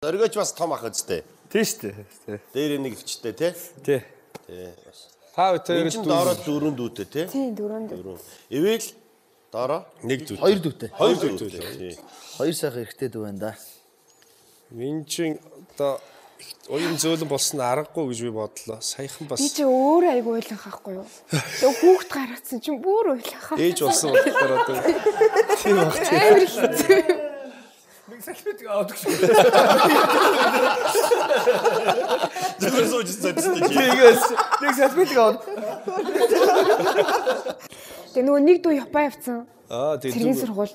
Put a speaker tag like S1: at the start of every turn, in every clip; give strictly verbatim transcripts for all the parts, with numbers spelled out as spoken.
S1: Оргиоч бас том ах үстэй.
S2: Тийш үү.
S1: Дээр нэг өвчтэй тий.
S2: Тий.
S1: Тий.
S2: Та хоёр
S1: чинь доороо дөрөв дүүтэй тий.
S3: Тийм дөрөв дүү.
S1: Ивэл доороо нэг дүүтэй.
S4: Хоёр дүүтэй.
S1: Хоёр дүүтэй.
S4: Хоёр сайхан эрэгтэй дүү байна да.
S5: Минь чин одоо уян зөөлөн болсон аргагүй гэж би бодлоо. Саяхан бас
S3: Би чи өөр айгу ойлгох байхгүй юу? Тэгээ хүүхд гаргацсан чинь бүр ойлгох.
S5: ээж болсон болохоор одоо тийм багт.
S3: Амар хэцүү.
S2: Нэг салбит авдаг шүү.
S1: Зүгээр сууж цацсан чи.
S2: Тэгээс нэг салбит авдаг.
S3: Тэгээ нөгөө нэг дүү Япон явцсан.
S5: Аа тийм.
S3: Цэргийн сургууль.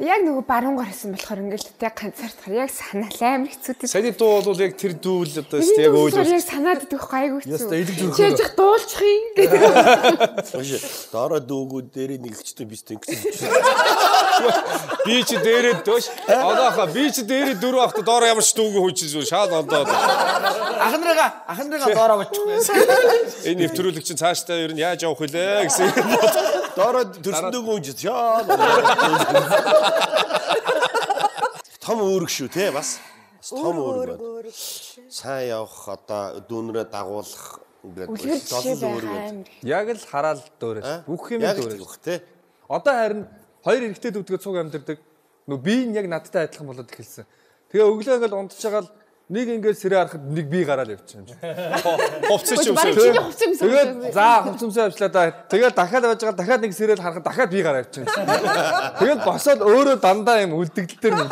S3: Яг нөгөө баруунгаар хийсэн болохоор ингээл тэг ганцаардахаар яг санаа амар хэцүү тийм.
S5: Саяны дуу бол яг тэр дүүл одоо яг
S3: өөр яг
S5: өөр.
S3: санаад идэх гайгүй хэцүү.
S2: Яста элэг зүрх.
S3: Чиж дуулчих юм гэдэг.
S1: Доороо дүүгүүд дээр нэг өвчтэй бистэй ингэсэн.
S5: Би чи дээрээ дөөш. Одоохоо би чи дээрээ дөрөв авах доороо ямар ч дүүгэн хүчилж шал ондоо.
S4: Ахнарыгаа ахнарыгаа доороо бочихгүй.
S5: Энэ нэвтрүүлэг чинь цаашдаа ер нь яаж явах вүлээ гэсэн.
S1: Доороо төрсөн дүүгэн хүчил шаа. Том үүрэг шүү те бас. Том үүрэг байна. Сайн явах одоо дүүнрээ дагуулах
S3: Үлгэр жишээ байгаа.
S2: Яг л хараал дөөрөөс. Бүх юм дөөрөөс.
S1: те.
S2: Одоо харин хоёр эрэгтэй дүүдгээ цуг амьдэрдэг. Нөө би нь яг надтай адилхан болоод эхэлсэн. Тэгээ өглөө ингээл унтж байгаа л нэг ингээд сэрээ харахад нэг би гараад явчихсан юм шиг.
S5: Хувцас ч
S3: Баг
S5: юмсаа.
S3: чиний хувцас юмсан.
S2: Тэгээд за хувцамсаа авчлаа да. Тэгээд дахиад явж байгаа дахиад нэг сэрэл харахад дахиад би гараад явчихсан юм шиг. Тэгээд босоод өөрөө дандаа юм үлдэгдэл төр юм.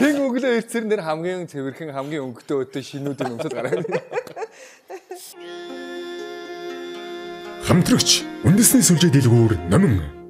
S2: Хэн өглөө ирцэр нэр хамгийн цэвэрхэн хамгийн өнгөтэй өдөө шинүүдээр өмсөд гараад.
S6: Хамтрагч үндэсний сүлжээ дэлгүүр номин